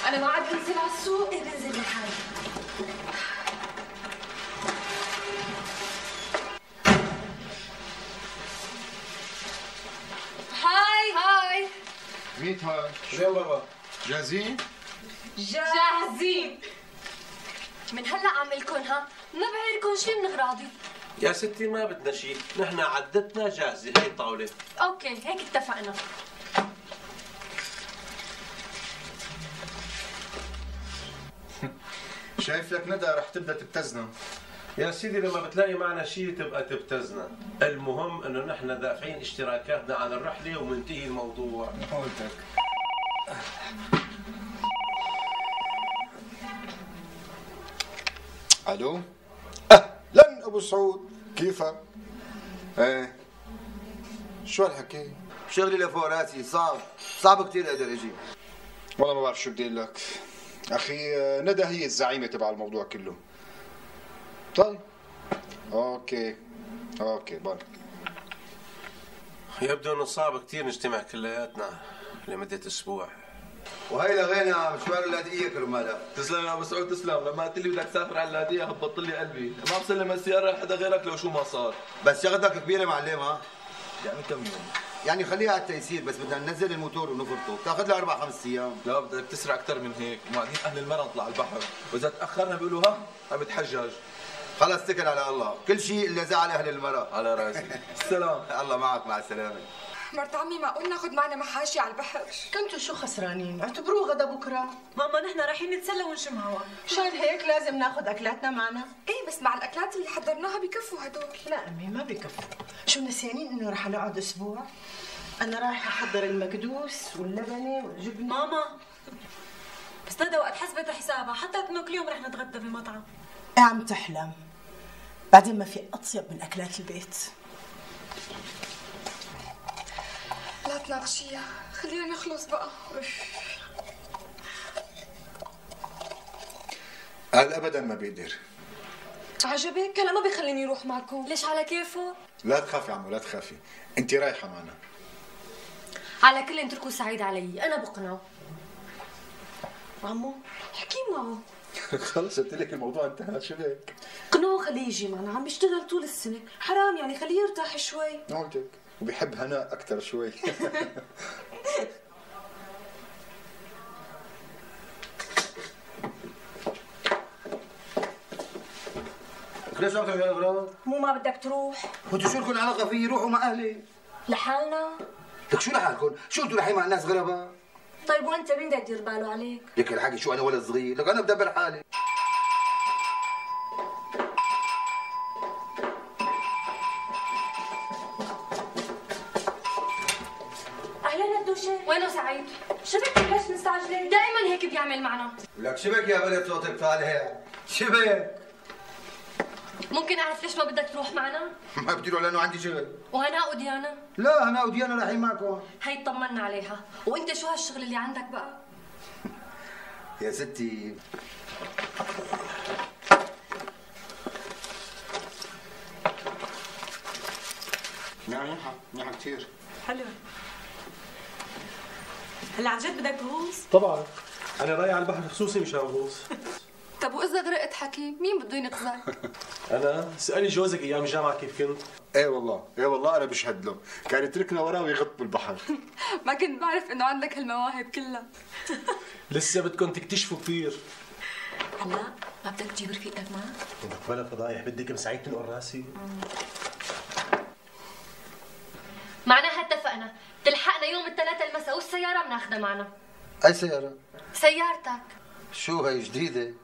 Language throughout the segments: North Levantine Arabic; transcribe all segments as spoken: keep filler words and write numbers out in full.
انا ما عاد بنزل على السوق. ايه بنزل لحالي. هاي هاي. ميت هاي. شو بابا؟ جاهزين؟ جاهزين. من هلا عم لكم ها، ما بعيركم شي من اغراضي. يا ستي ما بدنا شيء، نحن عدتنا جاهزة، هي الطاولة. اوكي هيك اتفقنا. شايف لك ندى رح تبدا تبتزنا. يا سيدي لما بتلاقي معنا شيء تبقى تبتزنا، المهم انه نحن دافعين اشتراكاتنا على الرحلة ومنتهي الموضوع. قلتك. الو؟ اهلا ابو سعود، كيفك؟ ايه شو هالحكي؟ شغلي لفوق راسي صعب، صعب كثير اقدر اجي. والله ما بعرف شو بدي اقول لك. اخي ندى هي الزعيمه تبع الموضوع كله. طيب اوكي اوكي باي. يبدو انه صعب كثير نجتمع كلياتنا لمدة اسبوع. وهي لغينا مشوار اللاذقيه كرمالها. تسلم يا ابو سعود تسلم، لما قلت لي بدك تسافر على اللاذقيه هبطت لي قلبي، ما بسلم السياره لحدا غيرك لو شو ما صار. بس شغلتك كبيره معلم ها؟ يعني كم يوم؟ يعني خليها على التيسير، بس بدنا ننزل الموتور ونفرطه، بتاخذ لها اربع خمس ايام. لا بدك تسرع اكثر من هيك، وبعدين اهل المرة نطلع على البحر، واذا تاخرنا بيقولوا ها عم يتحجج. خلص اتكل على الله، كل شيء الا زعل اهل المرأة. على راسي. السلام. الله معك، مع السلامه. مرت عمي معقول ناخذ معنا محاشي على البحر؟ كنتوا شو خسرانين؟ اعتبروه غدا بكره. ماما نحن رايحين نتسلى ونشم هوا. مشان هيك لازم ناخذ اكلاتنا معنا. ايه بس مع الاكلات اللي حضرناها بكفوا هدول. لا امي ما بكفوا. شو نسيانين انه رح نقعد اسبوع؟ انا رايحه احضر المكدوس واللبنه والجبنه. ماما بس ندى وقت حسبت حسابها حطت انه كل يوم رح نتغدى بمطعم. ايه عم تحلم. بعدين ما في اطيب من اكلات البيت. لا تناقشيها، خلينا نخلص بقى. قال ابدا ما بيقدر. عجبك؟ هلا ما بيخليني اروح معكم. ليش على كيفه؟ لا تخافي عمو لا تخافي، انت رايحه معنا. على كل اتركوا سعيد علي، انا بقنعه. عمو احكي معه. خلص قلت لك الموضوع انتهى، شو هيك؟ قنعه خليه يجي معنا، عم يشتغل طول السنه، حرام يعني خليه يرتاح شوي. قلتك، وبيحب هناء اكثر شوي. ليش عم تعمل اغراض؟ مو ما بدك تروح؟ وانتوا شو لكم علاقه فيي؟ روحوا مع اهلي. لحالنا؟ لك شو لحالكم؟ شو انتوا رايحين مع ناس غرباء؟ طيب وانت مين بده يدير باله عليك؟ لك الحكي شو انا ولد صغير؟ لك انا بدبر حالي. اهلا ندوشه، وينه سعيد؟ شبك ليش مستعجله؟ دائما هيك بيعمل معنا. لك شبك يا بلد صوتك طالع، شبك. ممكن اعرف ليش ما بدك تروح معنا؟ ما بدي اروح لانه عندي شغل. وهناء وديانا؟ لا هناء وديانا رايحين معكم. هي طمنا عليها، وانت شو هالشغل اللي عندك بقى؟ يا ستي منيحه منيحه كثير. حلو. هلا عن جد بدك تغوص؟ طبعا، انا رايح على البحر خصوصي مشان غوص. طب واذا غرقت حكيم مين بده ينقذك؟ انا اسالي جوزك ايام الجامعه كيف كنت؟ ايه والله ايه والله انا بشهد له، كان يتركنا وراه ويغط بالبحر. ما كنت بعرف انه عندك هالمواهب كلها. لسه بدكم تكتشفوا كثير. هلا ما بدك تجيب رفيقك معك؟ بدك بلا فضايح، بدك مساعدة تنقل راسي. معناها اتفقنا، تلحقنا يوم الثلاثاء المساء والسيارة بناخذها معنا. اي سيارة؟ سيارتك. شو هي جديدة؟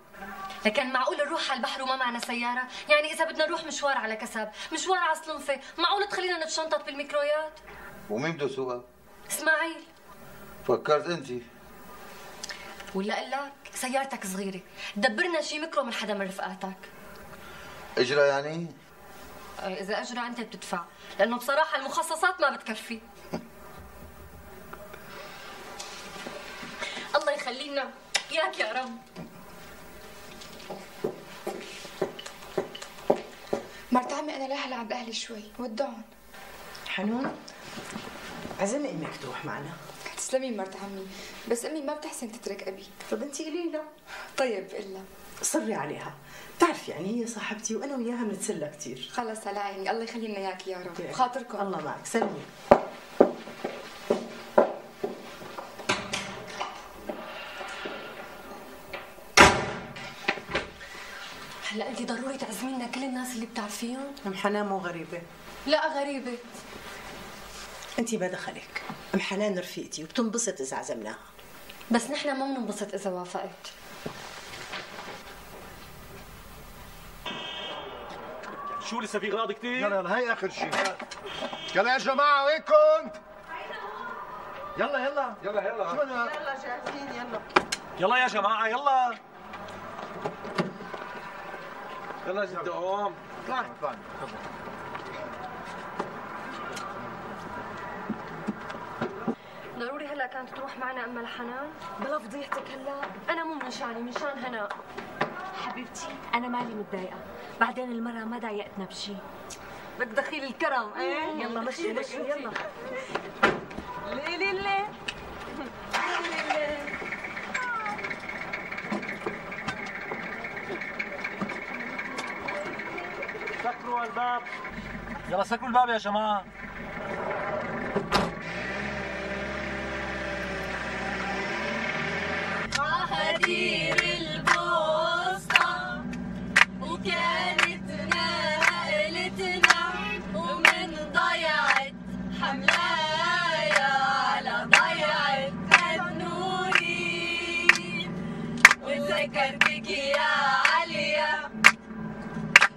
لكن معقول نروح على البحر وما معنا سيارة؟ يعني إذا بدنا نروح مشوار على كسب، مشوار على صلنفة، معقول تخلينا نتشنطط بالميكرويات؟ ومين بده يسوقها؟ اسماعيل. فكرت انت. ولا اقول لك سيارتك صغيرة، دبرنا شي ميكرو من حدا من رفقاتك. اجرى يعني؟ إذا أجرى أنت بتدفع، لأنه بصراحة المخصصات ما بتكفي. الله يخلينا إياك يا رب. مرت عمي انا رايحه العب اهلي شوي، ودعهم. حنون عزمي امك تروح معنا. تسلمي مرت عمي، بس امي ما بتحسن تترك ابي. طب انت قولي لها. طيب الا صري عليها، بتعرفي يعني هي صاحبتي وانا وياها بنتسلى كثير. خلص على عيني، الله يخلي لنا اياك يا رب. بخاطركم. الله معك، سلمي. هلا انت ضروري تعزمينا كل الناس اللي بتعرفيهم؟ ام حنان مو غريبه. لا غريبه. انت ما دخلك، ام حنان رفيقتي وبتنبسط اذا عزمناها. بس نحن ما بننبسط اذا وافقت. شو لسه في غراض كثير؟ يلا يلا هي اخر شيء. يلا يا جماعه وين كنت؟ يلا يلا يلا يلا شو انا؟ يلا جاهزين يلا. يلا يا جماعه يلا يلا جد قوم. طلع طلع تفضل. ضروري هلا كانت تروح معنا اما الحنان؟ بلا فضيحتك هلا، انا مو من شاني، من شان هناء. حبيبتي انا مالي متضايقه، بعدين المره ما ضايقتنا بشي. بدك دخيل الكرم ايه؟ يلا مشي مشي يلا. ليه ليه ليه؟ سكروا الباب، يلا سكروا الباب يا جماعه. عهدير البوسطة وكانت نقلتنا ومن ضيعت حملايا على ضيعت النورين، وتذكرتك يا عليا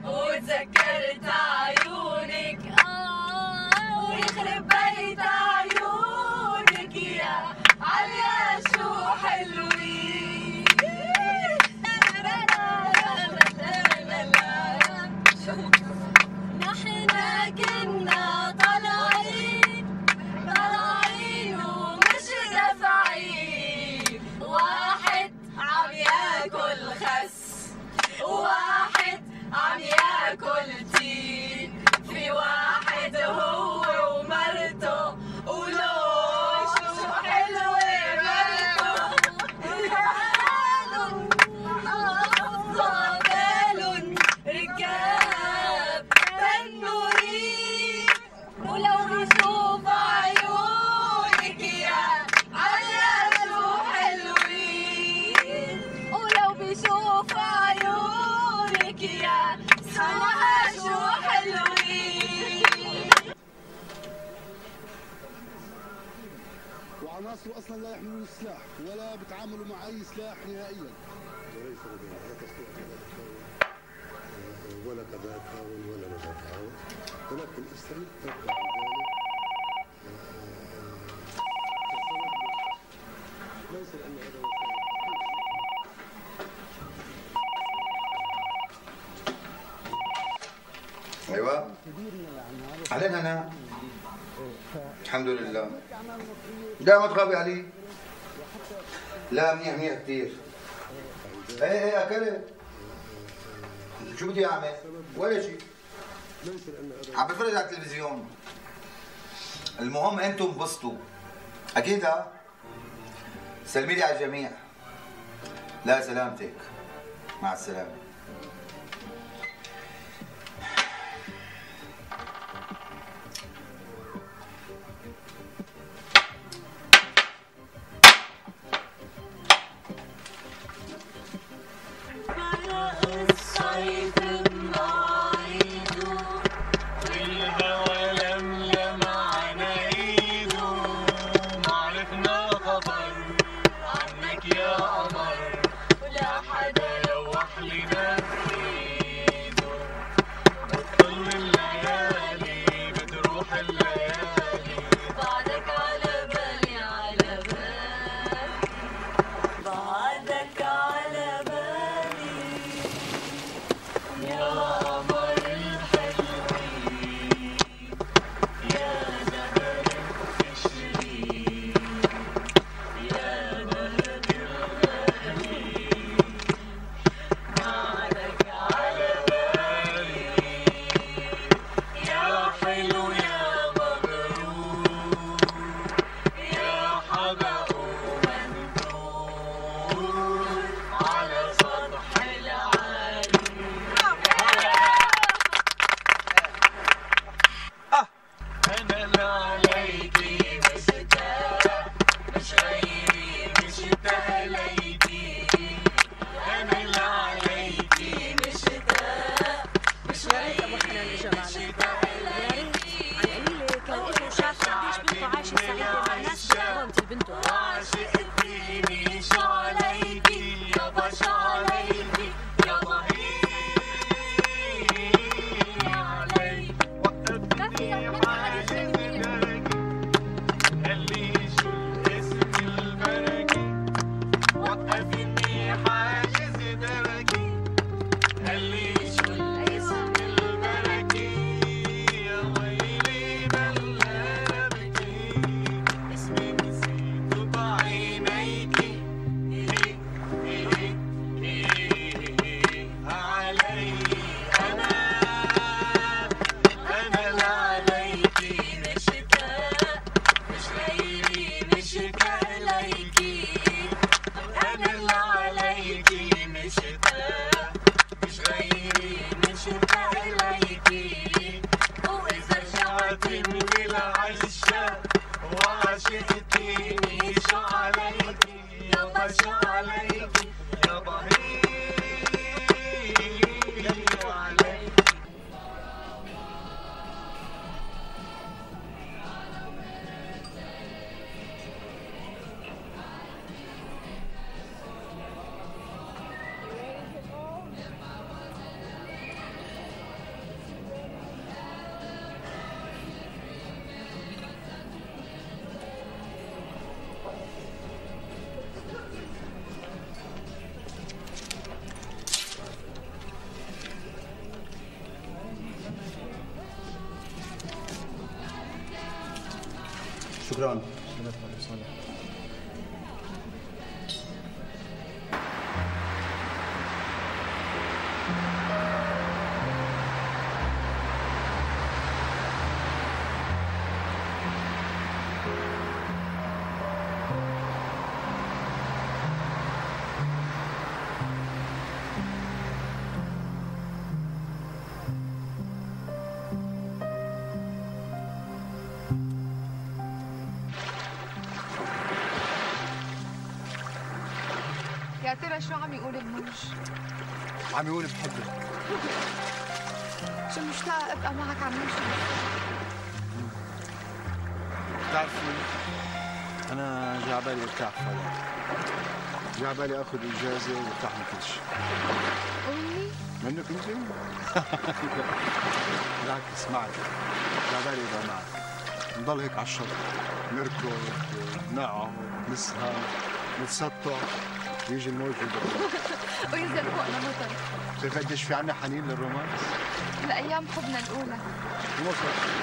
وتذكرت عيونك آه ويخرب بيت عيونك يا عليا شو حلوين. نحنا كنا طالعين طالعين ومش دافعين، واحد عم ياكل خس واحد عم ياكل تين، في واحد هو ومرته ولو شو حلوة مرته، بالون بالون ركاب تنورين، ولو بشوف عيونك يا عليا شو حلوين، ولو بشوف عيونك يا سما شو حلوين. وعناصر اصلا لا يحملون السلاح ولا بيتعاملوا مع اي سلاح نهائيا. ولا قضاء تعاون ولا نزاع تعاون، ولكن اسرائيل تبدا بذلك ليس لان هذا ايوه علينا انا الحمد لله. لا ما تخافي علي. لا منيح منيح كثير. ايه ايه اكلت. شو بدي اعمل؟ ولا شيء. عم بتفرج على التلفزيون. المهم انتم انبسطوا. اكيد ها؟ سلمي لي على الجميع. لا سلامتك. مع السلامة. الصيف مواعيده والهوى لملم على ايده، ما عرفنا خبر عنك يا قمر ولا حدا لوح لنا عشاق وعشقتيني شو عليكي يابا شو عليكي يابا هي عليكي. شكرا. يا ترى شو عم يقول الموج؟ عم يقول بحبك. شو مشتاقة ابقى معك عم نمشي. بتعرفي أنا جا عبالي ارتاح فعلا. جا عبالي آخذ إجازة وارتاح من كل شيء. أمي؟ منك أنت؟ بالعكس اسمعي، جا عبالي أبقى معك. نضل هيك على الشط، نركض، نقعد، نسهر، نتسطح، يجي الموج يضربنا. وينزل فوقنا مطر. بتعرفي قديش في عنا حنين للرومانس؟ لأيام حبنا الأولى. وصل.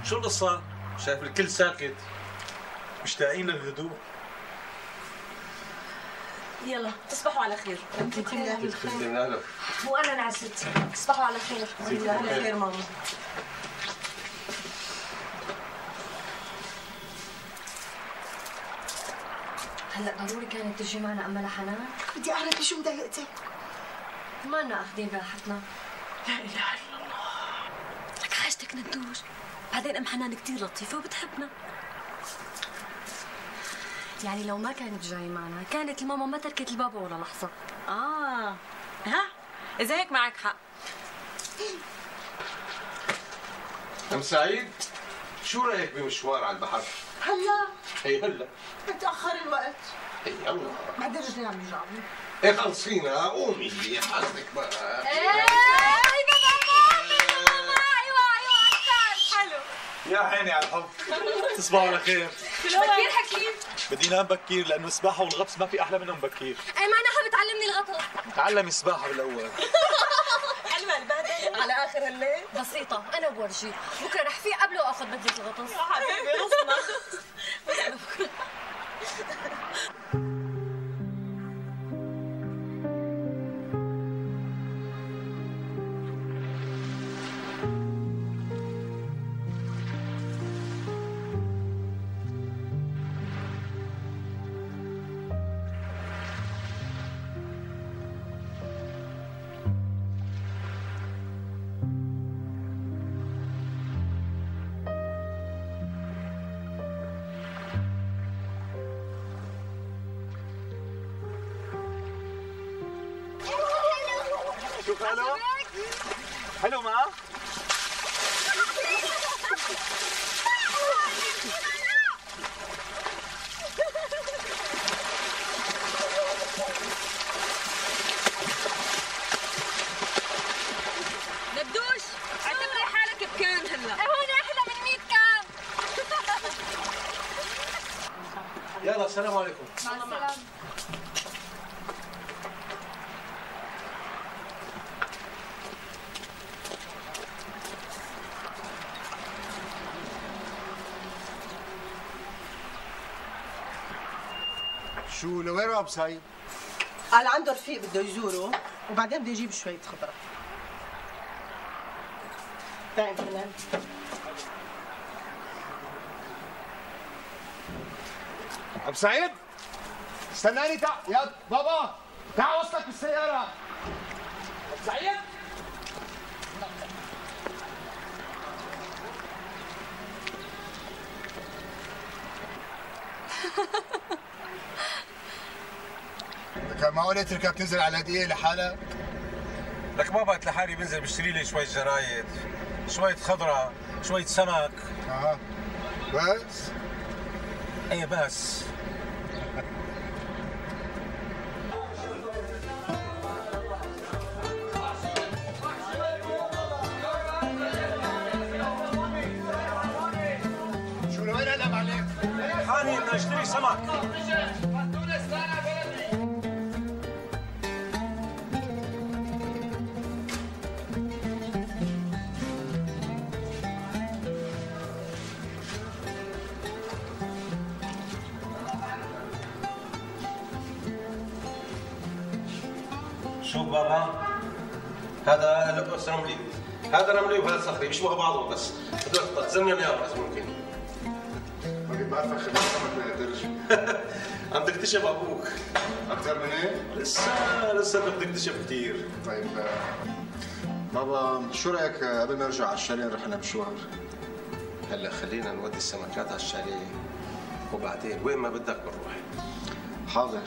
شو القصة؟ شايف الكل ساكت، مشتاقين للهدوء. يلا تصبحوا على خير. انت كلها بالخير. وانا نعست. تصبحوا على خير. على خير ماما. هلا ضروري كانت تجي معنا أما لحنان؟ بدي أعرف شو مضايقتك؟ ما لنا أخذين راحتنا. لا إله إلا الله. لك حاجتك ندوش. بعدين أم حنان كتير لطيفة وبتحبنا. يعني لو ما كانت جاي معنا كانت الماما ما تركت البابا ولا لحظة. آه ها إذا هيك معك حق. أم سعيد شو رأيك بمشوار على البحر؟ هلا اي هلا متأخر الوقت. اي يلا بعدين رجعنا عم نجاوب. ايه خلصينا قومي حاسبك بقى. ايه يا عيني على الحب. تصبحوا على خير. بكير حكيم. بدي نام بكير لانه السباحه والغطس ما في احلى منهم بكير. اي معناها بتعلمني الغطس. تعلمي السباحه بالاول. حلوه البهدله على اخر الليل. بسيطة أنا بورجيك، بكرة رح فيق قبله وآخذ بدلة الغطس. يا حبيبي رسمة. شوف حلو؟ حلو ما؟ ندوش اعتبري حالك بكان هلا. هون أحلى من مية كان. يلا السلام عليكم. مع السلامة. شو لوين راح بسعيد؟ قال عنده رفيق بده يزوره وبعدين بده يجيب شوية خضرة. تعال فنان. ابو سعيد استناني تعال يا بابا تعال وصلك بالسيارة. ابو سعيد لك ما قلت لك بتنزل على الهدية لحالك؟ لك ما بقت لحالي بنزل بشتري لي شوية جرايد، شوية خضرة، شوية سمك. اه بس؟ ايه بس. شو لوين قلب عليك؟ حالي بدي اشتري سمك. شوف بابا، هذا لبس رملي، هذا رملي وهذا صخري بيشبهوا بعضهم بس بدك تزمنهم اياهم اذا ممكن. ما كنت بعرفك خبير سمك من الدرج. عم تكتشف ابوك. اكثر من هيك؟ لسه لسه بدك تكتشف كثير. طيب بابا شو رايك قبل ما نرجع على الشاليه نروح لنا مشوار؟ هلا خلينا نودي السمكات على الشاليه وبعدين وين ما بدك بنروح. حاضر.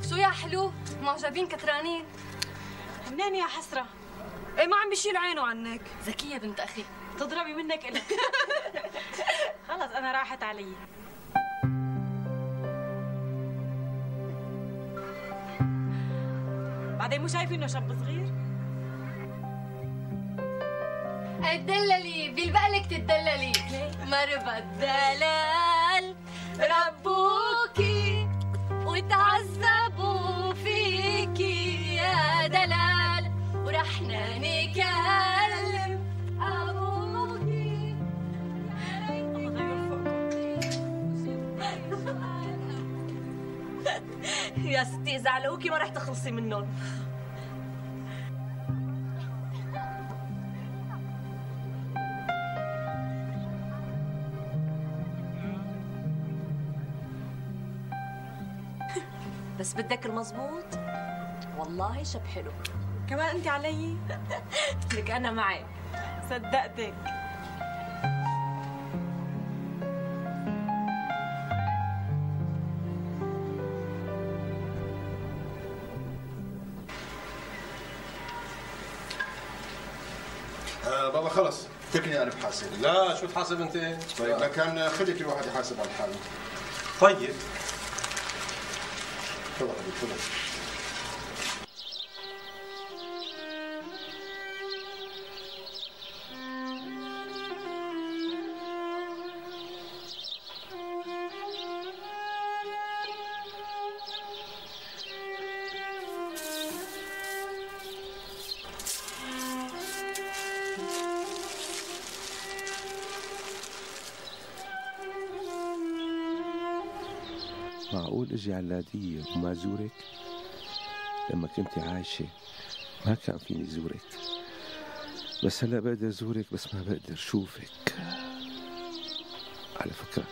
شو يا حلو؟ معجبين كترانين؟ منين يا حسرة؟ ايه ما عم بيشيل عينه عنك. ذكية بنت أخي. تضربي منك إلك. خلص أنا راحت علي. بعدين مو شايفين إنه شاب صغير؟ اتدللي بيلبقلك تتدللي. مربى الدلال ربوكي وتعذبوا فيكي يا دلال ورحنا نكلم ابوكي. يا ستي إذا علقوكي ما رح تخلصي منهم. بس بدك المضبوط والله شب حلو. كمان انت علي؟ لك انا معك. صدقتك. آه بابا خلص اتركني انا بحاسب. لا شو تحاسب انت؟ طيب لكن خلي كل واحد يحاسب على حاله. طيب تفضل حبيبي تفضل. معقول اجي على اللاذقية وما زورك؟ لما كنت عايشة ما كان فيني زورك، بس هلا بقدر زورك بس ما بقدر شوفك. على فكرة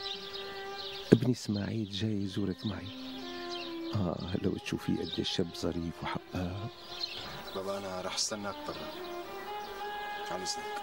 ابني اسماعيل جاي يزورك معي. اه لو تشوفيه قد الشاب ظريف وحقاب. بابا انا رح استناك برا. على اذنك.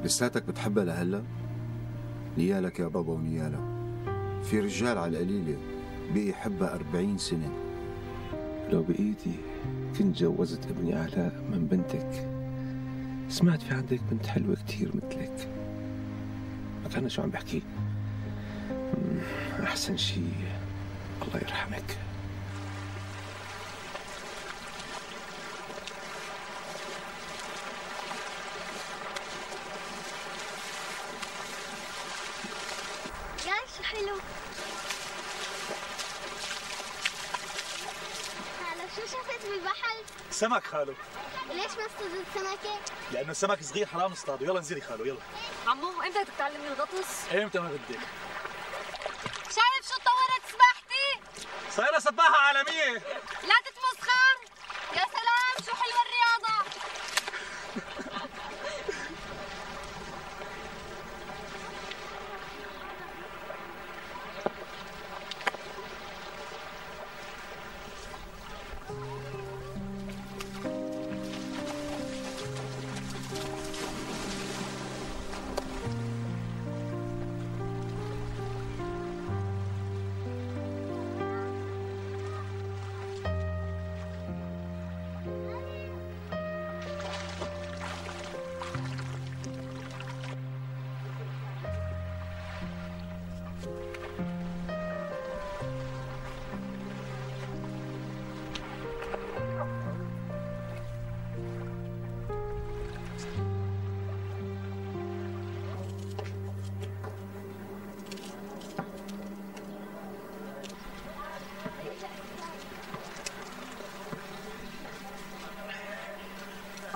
لساتك بتحبها لهلا؟ نيالك يا بابا ونيالك. في رجال على القليلة بقي يحبها أربعين سنة. لو بإيدي كنت جوزت ابني علاء من بنتك. سمعت في عندك بنت حلوة كتير مثلك. ما كان شو عم بحكي. أحسن شيء الله يرحمك. يا شو حلو. خالو شو شفت بالبحر؟ سمك خالو. ليش ما اصطادت سمكة؟ لأنه السمك صغير حرام نصطاده. يلا انزلي خالو يلا. عمو امتى بدك تتعلمي الغطس؟ ايمتى ما بدك؟ شايف شو تطورت سباحتي؟ صايرة سباحة عالمية. لا تتمسخر. يا سلام شو حلوة الرياضة.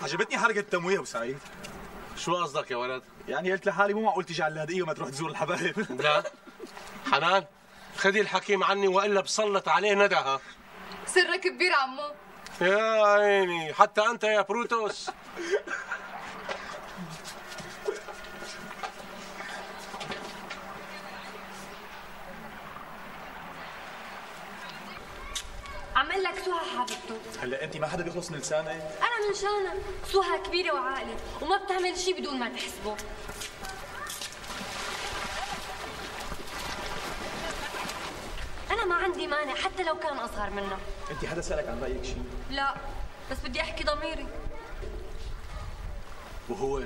عجبتني حركة التمويه ابو سعيد. شو قصدك يا ولد؟ يعني قلت لحالي مو معقول تيجي على اللاذقية وما تروح تزور الحبايب. لا حنان خذي الحكيم عني والا بسلط عليه ندها. سرك كبير عمو. يا عيني حتى انت يا بروتوس. عم اقول لك سهى حبيبته. هلا انت ما حدا بيخلص من لسانك؟ انا من شانها. سهى كبيره وعاقله وما بتعمل شيء بدون ما تحسبه. انا ما عندي مانع حتى لو كان اصغر منها. انت حدا سالك عن رايك شيء؟ لا بس بدي احكي ضميري. وهو؟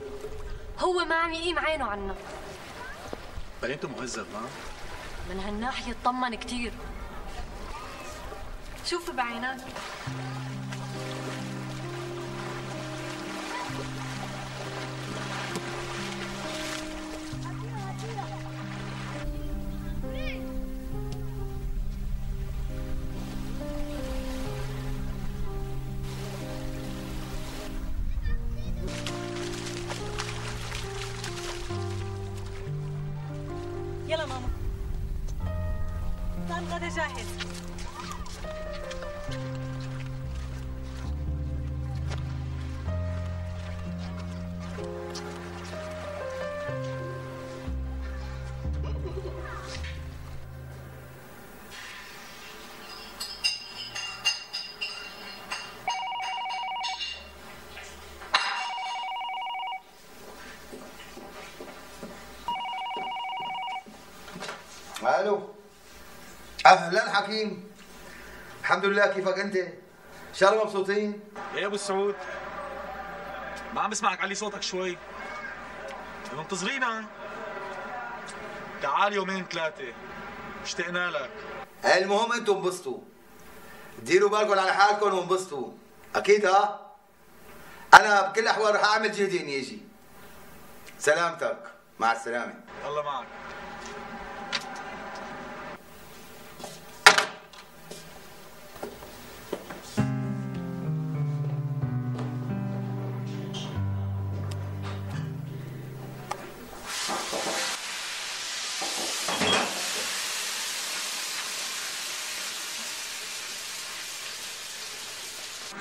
هو ما عم يقيم عينه عنا. بينته مهذب ما؟ من هالناحيه اطمن كثير. شوف بعينك. يلا ماما. صار الغدا جاهز. الو اهلا حكيم. الحمد لله، كيفك انت؟ شو مبسوطين؟ يا ابو السعود ما عم بسمعك، علي صوتك شوي. منتظرينا. تعال يومين ثلاثة اشتقنا لك. المهم انتم انبسطوا، ديروا بالكم على حالكم وانبسطوا اكيد. ها انا بكل الاحوال رح اعمل جهدي اني اجي. سلامتك، مع السلامة. الله معك.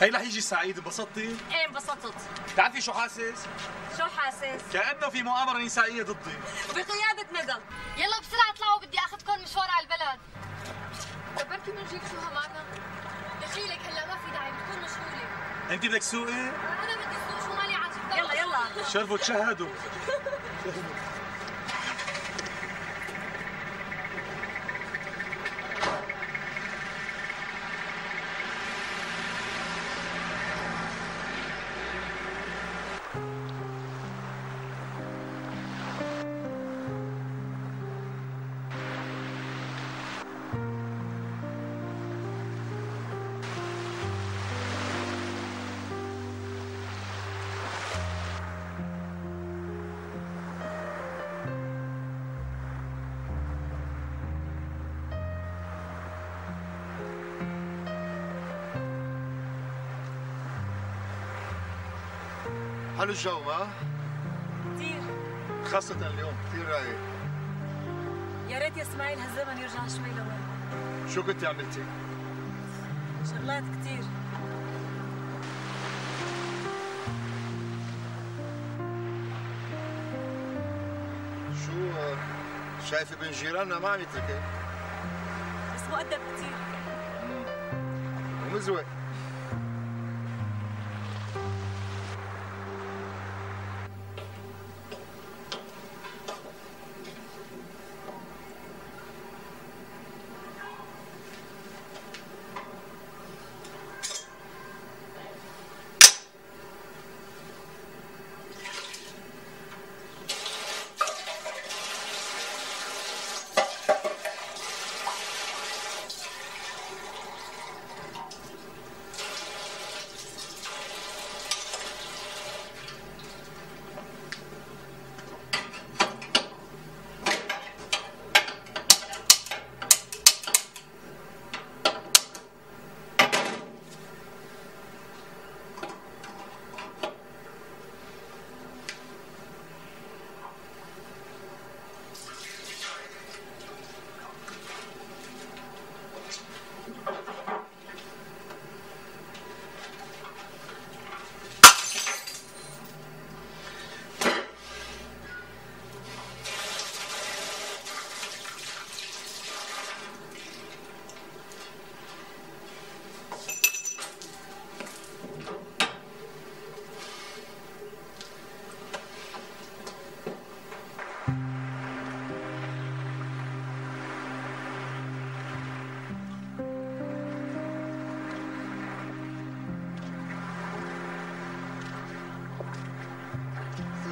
هي رح يجي سعيد. انبسطتي؟ ايه انبسطت. بتعرفي شو حاسس؟ شو حاسس؟ كأنه في مؤامرة نسائية ضدي بقيادة ندى. يلا بسرعة اطلعوا، بدي اخذكم مشوار على البلد. كبرتي بنجيب سهى معنا. دخيلك هلا ما في داعي، بتكون مشغولة. انت بدك تسوقي؟ انا بدي اسوق، شو مالي عاجبك؟ يلا يلا شرفوا تشهدوا. حلو الجو ها؟ كثير، خاصة اليوم كثير رايق. يا ريت يا اسماعيل هالزمن يرجع شوي لورا. شو كنتي عملتي؟ شغلات كثير. شو شايفة بين جيراننا ما عم يتركك؟ بس مؤدب كثير. ومزوق.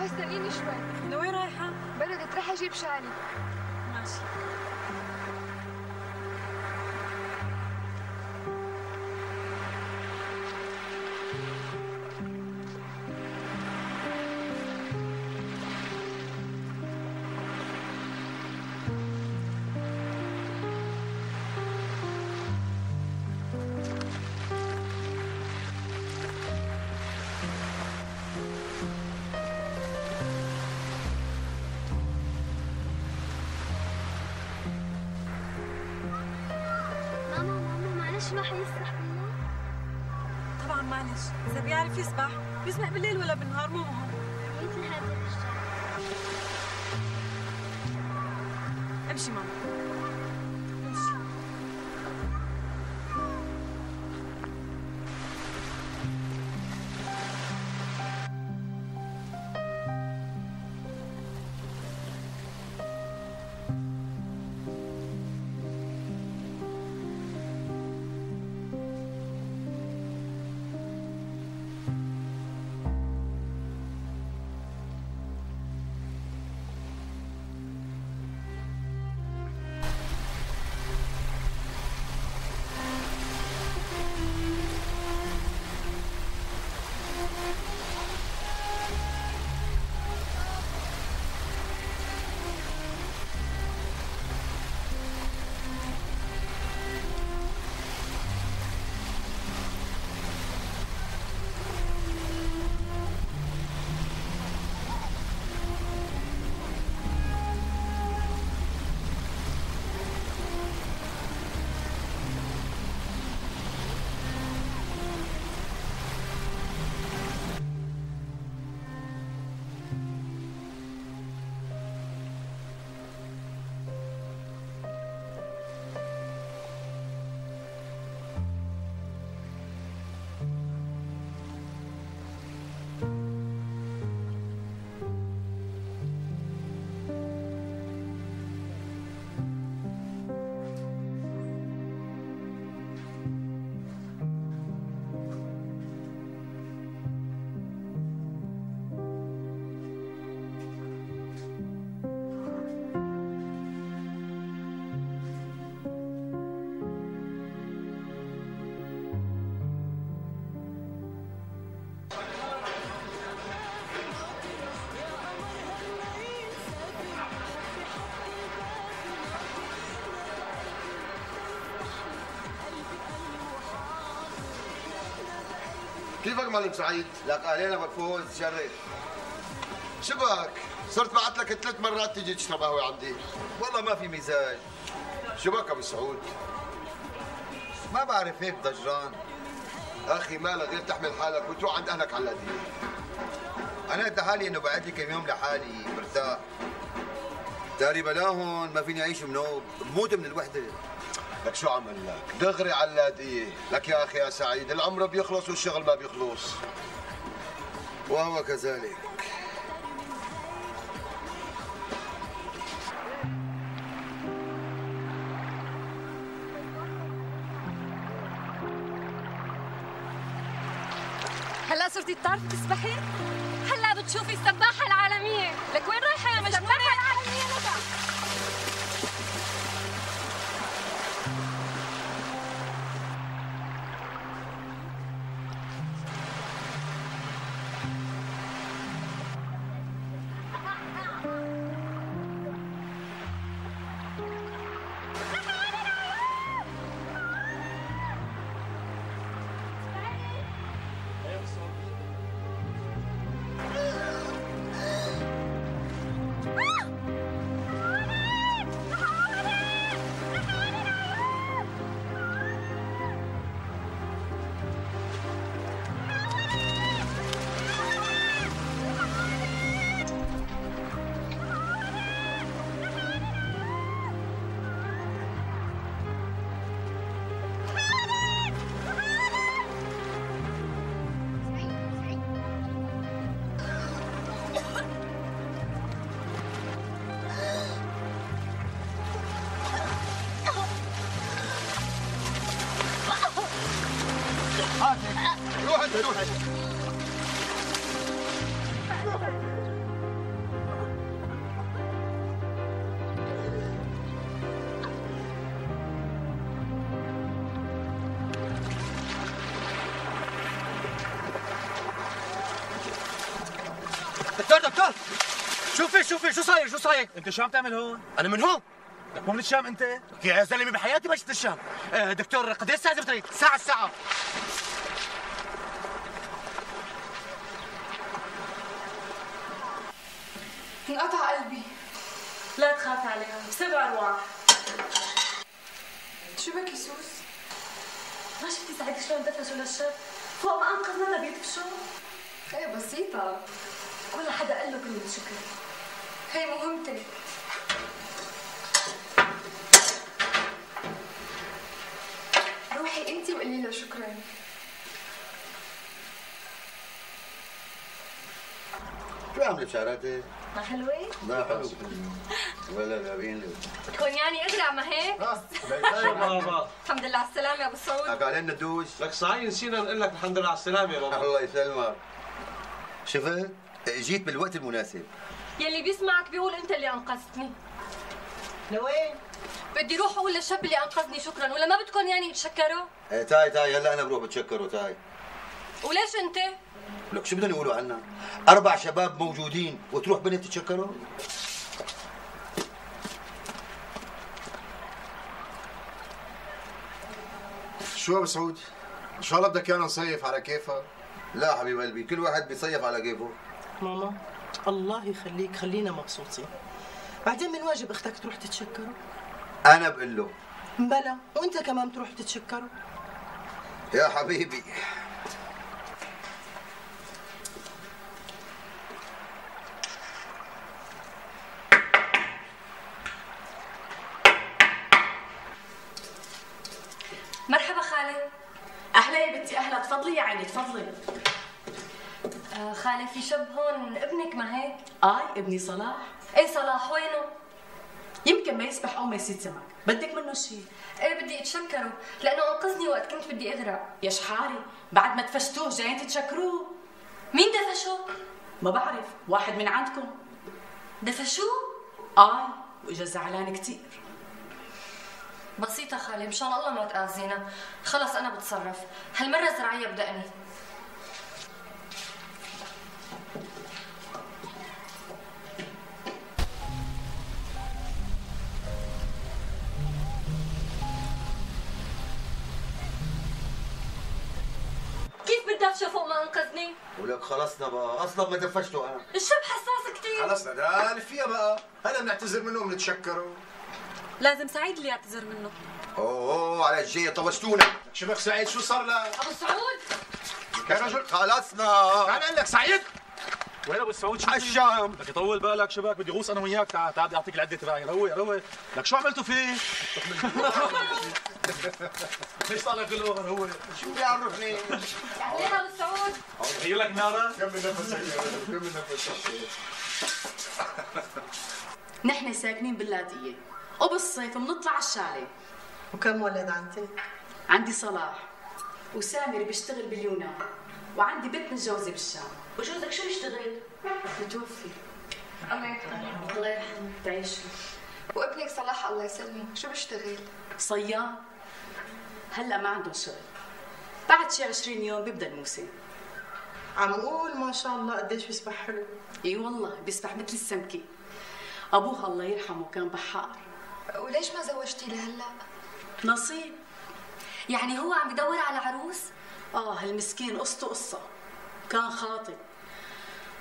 استنيني شوي. لوين رايحة؟ بردت، رح اجيب شالي. ماشي. معلش ما حيسبح بالله؟ طبعا معلش، إذا بيعرف يسبح بيسبح بالليل ولا بالنهار مو مهم. مثل هذا الرجال. امشي ماما. كيفك معلم سعيد؟ لك اهلين مكفوز شرف. شبك؟ صرت بعت لك ثلاث مرات تيجي تشرب قهوه عندي. والله ما في مزاج. شبك ابو سعود؟ ما بعرف هيك ضجران. اخي ما غير تحمل حالك وتروح عند اهلك على الهديه. انا قد حالي انه بعد لي كم يوم لحالي مرتاح. داري بلاهن ما فيني اعيش منوب، بموت من الوحده. لك شو عمل لك؟ دغري على اللاذقية، لك يا اخي يا سعيد العمر بيخلص والشغل ما بيخلص. وهو كذلك. هلا صرتي بتعرفي تسبحي؟ هلا بتشوفي السباحة العالمية، لك وين رايحة يا مجنونة؟ السباحة العالمية لك. روح انت روح. دكتور دكتور شوفي شوفي شو صاير شو صاير؟ انت شو عم تعمل هون؟ انا من هون. لك مو من الشام انت؟ يا زلمه بحياتي ما شفت الشام. آه دكتور قد ايش ساعه زفتري؟ ساعه الساعه. انقطع قلبي. لا تخافي عليها، بسبع ارواح. شو بك يسوس؟ ما شفتي سعيد شلون دفشوا للشاب؟ فوق ما انقذنا بيدفشوا. ايه بسيطة. ولا حدا قال له كلمة شكر. هي مهمتي. روحي انتي وقولي له شكرا. شو عامله بشعراتك؟ ما حلوة؟ لا حلو. ولا لابين له. تكون يعني اغرع ما هيك؟ شو بابا؟ الحمد لله على السلامة يا ابو سعود. لك علينا ندوش. لك صحيح نسينا نقول لك الحمد لله على السلامة يا بابا. الله يسلمك. شفت؟ جيت بالوقت المناسب. يلي بيسمعك بيقول انت اللي انقذتني. لوين؟ بدي روح اقول للشاب اللي انقذني شكرا، ولا ما بدكم يعني تشكروا؟ ايه تاي تاي هلا انا بروح بتشكره تاي. وليش انت؟ لك شو بدهم يقولوا عنا؟ أربع شباب موجودين وتروح بنت تتشكروا؟ شو ابو سعود؟ ان شاء الله بدك ايانا نصيف على كيفك؟ لا حبيب قلبي، كل واحد بيصيف على كيفه. ماما الله يخليك خلينا مبسوطين. بعدين من واجب اختك تروح تتشكره؟ أنا بقول له. بلا، وأنت كمان بتروح تتشكره. يا حبيبي. مرحبا خالي. اهلا يا بنتي اهلا، تفضلي يا عيني تفضلي. آه خالي في شاب هون ابنك ما هيك؟ اي ابني صلاح. ايه صلاح وينه؟ يمكن ما يسبح او ما يصيد سمك، بدك منه شيء؟ ايه بدي اتشكره لانه انقذني وقت كنت بدي اغرق. يا شحاري بعد ما دفشتوه جايين تتشكروه. مين دفشوه؟ ما بعرف، واحد من عندكم. دفشوه؟ اي واجا زعلان كثير. بسيطة خالي، مشان الله ما تآذينا، خلص أنا بتصرف، هالمرة زراعية بدقني. كيف بتدفشوا فوق ما ولك خلصنا بقى، اصلا ما دفشته انا. الشاب حساس كثير. خلصنا ده فيها بقى، هلا بنعتذر منه وبنتشكره. لازم سعيد اللي يعتذر منه. اوه اوه على الجاي طبشتونا. شبك سعيد شو صار لك؟ ابو سعود يا رجل خلصنا. تعال اقول لك سعيد. وين ابو سعود شو عالشام. بدك يطول بالك شباك، بدي غوص انا وياك. تعال تعال بدي اعطيك العده تبعي. روق روق. لك شو عملتوا فيه؟ ليش طالع كل اوفر هو؟ شو بيعرفني؟ اهلين ابو سعود. غير لك ناره؟ كمل نفسك يا رجل، كمل نفسك. نحن ساكنين باللاذقية وبالصيف بنطلع على الشاليه. وكم ولد عندك؟ عندي صلاح وسامر بيشتغل باليونان، وعندي بنت متجوزة بالشام. وجوزك شو يشتغل؟ متوفي. الله يرحمه. الله يرحمه. تعيشوا. وابنك صلاح الله يسلمه شو بيشتغل؟ صياد. هلا ما عندهم شغل، بعد شي عشرين يوم بيبدا الموسم. عم قول ما شاء الله قديش بيسبح حلو. اي والله بيسبح مثل السمكة. ابوها الله يرحمه كان بحار. وليش ما زوجتي لهلا؟ نصيب. يعني هو عم يدور على عروس؟ اه المسكين قصته قصة، كان خاطب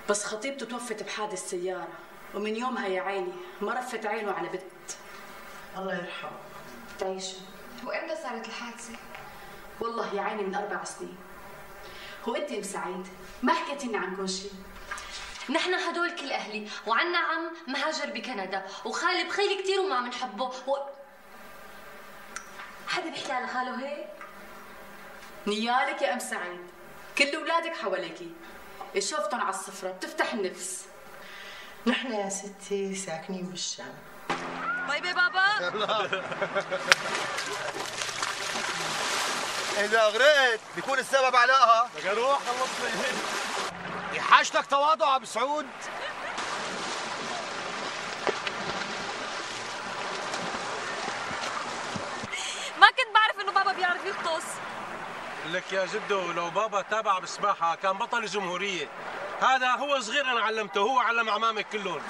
بس خطيبته توفت بحادث سيارة، ومن يومها يا عيني ما رفت عينه على بنت. الله يرحمه. تعيشوا. وامتى صارت الحادثة؟ والله يا عيني من أربع سنين. هو أنت أم سعيد ما حكيتي لنا عنكم شيء؟ نحن هدول كل اهلي، وعنا عم مهاجر بكندا، وخالي بخيلي كثير وما بنحبه و... حدا بيحكي على خاله هيك؟ نيالك يا ام سعيد، كل اولادك حواليكي، شوفتهم على الصفرة بتفتح النفس. نحن يا ستي ساكنين بالشام. باي باي بابا. اذا غرقت بيكون السبب علاها. بدي اروح خلصني. حاجتك تواضع ابو سعود. ما كنت بعرف انه بابا بيعرف يغطس. لك يا جدو لو بابا تابع بالسباحة كان بطل الجمهورية. هذا هو صغير أنا علمته، هو علم أعمامك كلهم.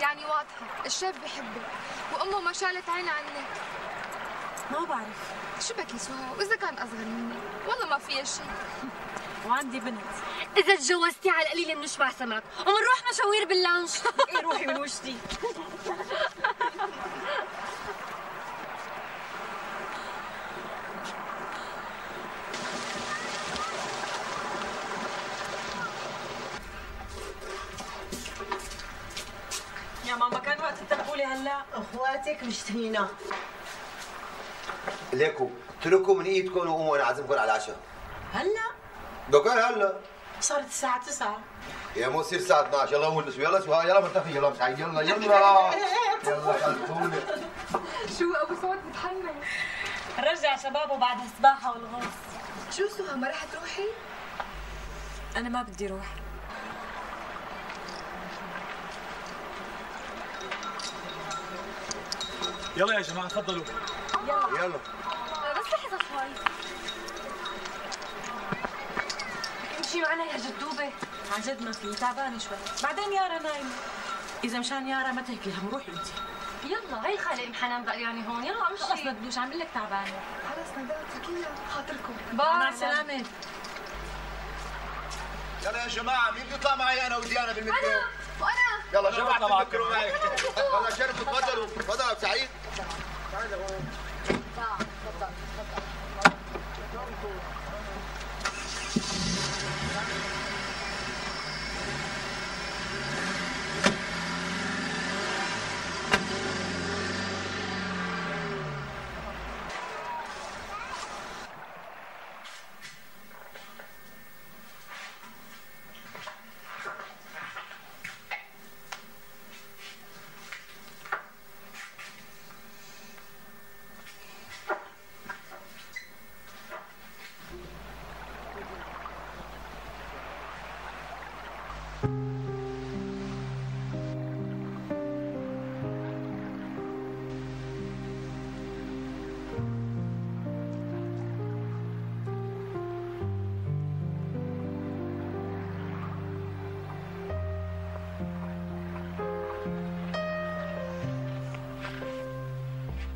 يعني واضحة الشاب بحبك وأمه ما شالت عينها عنك. ما بعرف. شو بك يا سهى؟ وإذا كان أصغر مني والله ما فيها شيء. وعندي بنت. إذا تجوزتي على القليل بنشبع سمك وبنروح مشاوير باللانش. إيه روحي من وشتي. يا ماما كان وقت تتركولي هلا. اخواتك مشتهينا. ليكو اتركوا من ايدكم وقوموا انا عازمكم على العشاء. هلا؟ دوكان هلا. صارت الساعة تسعة. يا مو يصير الساعة اثنعش، يلا قوموا نسوي، يلا سوا، يلا مرتفي، يلا سعيد، يلا يلا. يلا خلصوني. شو أبو سعود متحمس؟ رجع شبابه بعد السباحة والغوص. شو سهى ما رح تروحي؟ أنا ما بدي روح. يلا يا جماعة تفضلوا. يلا يلا. بس لحظة شوي. امشي معنا يا جدوبة. عن جد ما في، تعبانة شوي. بعدين يارا نايمة. إذا مشان يارا ما تهكي هم روحي أنت. يلا هي خالي ام حنان بقى يعني هون، يلا امشي. خلص بدوش عم لك تعبانة. خلص نداء اتركينا خاطركم. مع السلامة. يلا يا جماعة مين بده يطلع معي أنا وديانا بالمترو؟ أنا وأنا. يلا جماعة تفكروا معي. يلا شرفوا تفضلوا، تفضل أبو سعيد. تعال هون. تعال تفضل تفضل.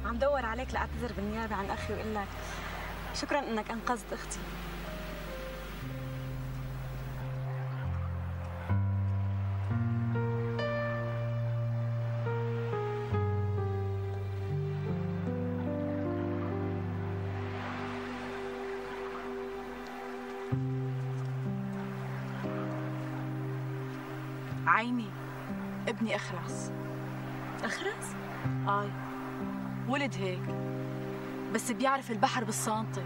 عم عم دور عليك لاعتذر بالنيابه عن اخي واقول لك شكرا انك انقذت اختي. عيني ابني اخرس. اخرس؟ اي ولد هيك بس بيعرف البحر بالسانطة.